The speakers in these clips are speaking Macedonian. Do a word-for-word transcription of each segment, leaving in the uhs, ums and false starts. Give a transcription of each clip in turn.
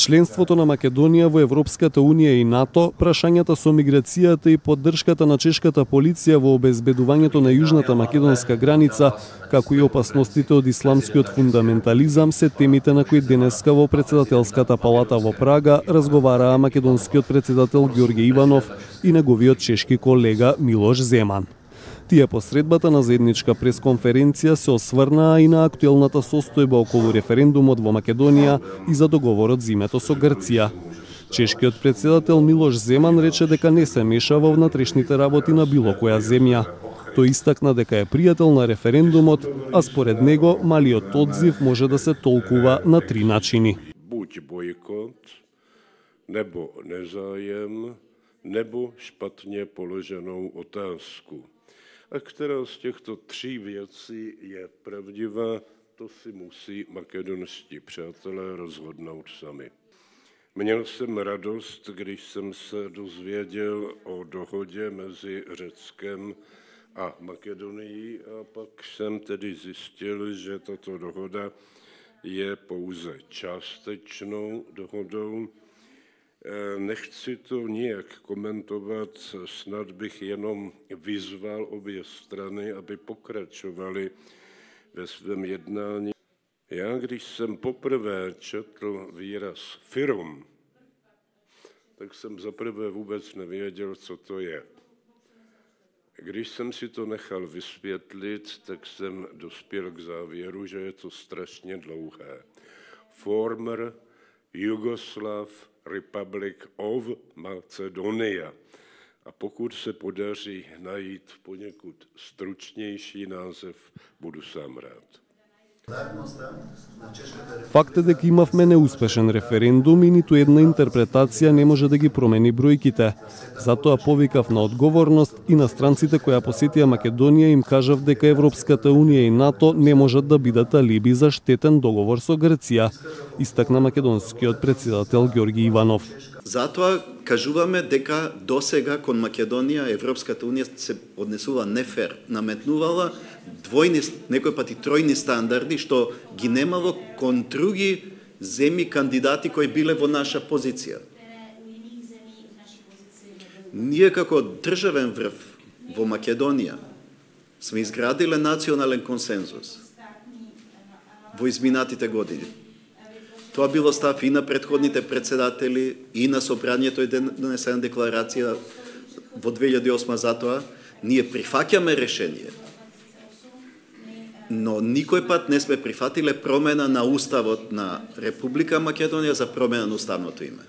Членството на Македонија во Европската унија и НАТО, прашањата со миграцијата и поддршката на чешката полиција во обезбедувањето на јужната македонска граница, како и опасностите од исламскиот фундаментализам се темите на кои денеска во председателската палата во Прага разговараа македонскиот председател Ѓорѓе Иванов и неговиот чешки колега Милош Земан. Тие по средбата на заедничка пресконференција се осврнаа и на актуелната состојба околу референдумот во Македонија и за договорот за името со Грција. Чешкиот председател Милош Земан рече дека не се меша во внатрешните работи на било која земја. Тој истакна дека е пријател на референдумот, а според него малиот одзив може да се толкува на три начини. Буď бойкот, небо незаjem, небо špatně položenou otázku. A která z těchto tří věcí je pravdivá, to si musí makedonští přátelé rozhodnout sami. Měl jsem radost, když jsem se dozvěděl o dohodě mezi Řeckem a Makedonií a pak jsem tedy zjistil, že tato dohoda je pouze částečnou dohodou. Nechci to nijak komentovat, snad bych jenom vyzval obě strany, aby pokračovali ve svém jednání. Já, když jsem poprvé četl výraz firm, tak jsem zaprvé vůbec nevěděl, co to je. Když jsem si to nechal vysvětlit, tak jsem dospěl k závěru, že je to strašně dlouhé. Former Yugoslav Republic of Macedonia. A pokud se podaří najít poněkud stručnější název, budu sám rád. Факт е дека имавме неуспешен референдум и ниту една интерпретација не може да ги промени бројките. Затоа повикав на одговорност и на странците кои посетија Македонија им кажав дека Европската унија и НАТО не можат да бидат алиби за штетен договор со Грција, истакна македонскиот председател Ѓорѓе Иванов. Затоа кажуваме дека досега кон Македонија Европската унија се однесува нефер, наметнувала двојни, некој пати тројни стандарди што ги немало кон други земји кандидати кои биле во наша позиција. Ние како државен врв во Македонија сме изградиле национален консензус во изминатите години. Тоа било став и на претходните председатели, и на собранието е донесена декларација во две илјади и осма затоа. Ние прифаќаме решение, но никој пат не сме прифатиле промена на уставот на Република Македонија за промена на уставното име.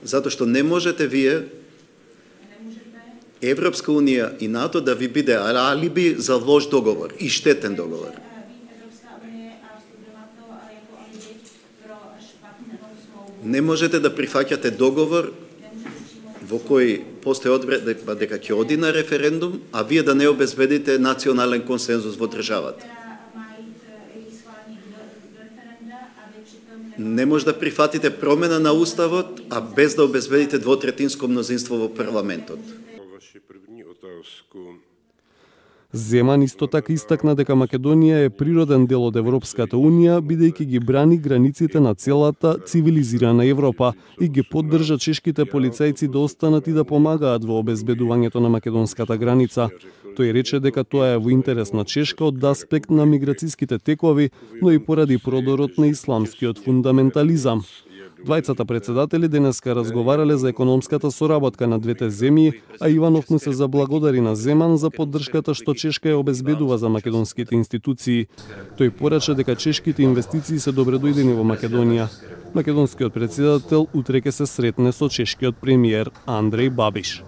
Затоа што не можете вие Европска унија и НАТО да ви биде алиби за лош договор и штетен договор. Не можете да прифаќате договор во кој постои одредба дека ќе оди на референдум, а вие да не обезбедите национален консензус во државата. Не може да прифатите промена на уставот, а без да обезбедите двотретинско мнозинство во парламентот. Земан исто така истакна дека Македонија е природен дел од Европската унија, бидејќи ги брани границите на целата цивилизирана Европа и ги поддржа чешките полицајци да останат и да помагаат во обезбедувањето на македонската граница. Тој рече дека тоа е во интерес на Чешка од аспект на миграциските текови, но и поради продорот на исламскиот фундаментализам. Двајцата председатели денеска разговарале за економската соработка на двете земји, а Иванов му се заблагодари на Земан за поддршката што Чешка ја обезбедува за македонските институции. Тој порача дека чешките инвестиции се добредојдени во Македонија. Македонскиот председател утре ќе се сретне со чешкиот премиер Андреј Бабиш.